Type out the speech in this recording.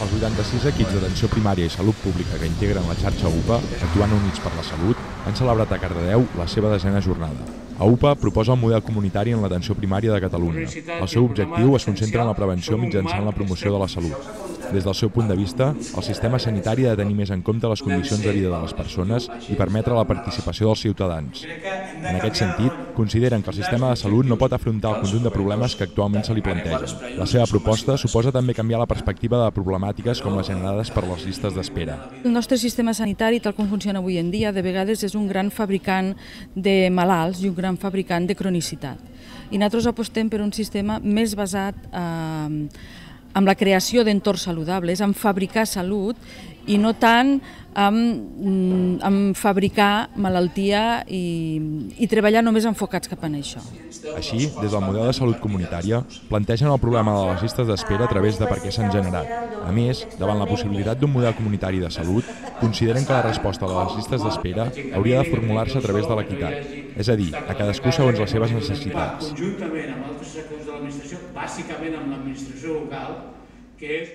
Els 86 equips d'atenció primària i salut pública que integren la xarxa UPA, actuant units per la salut, han celebrat a Cardedeu la seva 10a jornada. AUPA proposa un model comunitari en l'atenció primària de Catalunya. El seu objectiu es concentra en la prevenció mitjançant la promoció de la salut. Des del seu punt de vista, el sistema sanitari ha de tenir més en compte les condicions de vida de les persones i permetre la participació dels ciutadans. En aquest sentit, consideren que el sistema de salut no pot afrontar el conjunt de problemes que actualment se li plantegen. La seva proposta suposa també canviar la perspectiva de problemàtiques com les generades per les llistes d'espera. El nostre sistema sanitari, tal com funciona avui en dia, de vegades és un gran fabricant de malalts i un gran fabricant de cronicitat. I nosaltres apostem per un sistema més basat en la creació d'entorns saludables, en fabricar salut i no tant en fabricar malaltia i treballar només enfocats cap a això. Així, des del model de salut comunitària, plantegen el problema de les llistes d'espera a través de per què s'han generat. A més, davant la possibilitat d'un model comunitari de salut, consideren que la resposta a les llistes d'espera hauria de formular-se a través de l'equitat, és a dir, a cadascú segons les seves necessitats. Conjuntament amb altres sectors de l'administració, bàsicament amb l'administració local, que és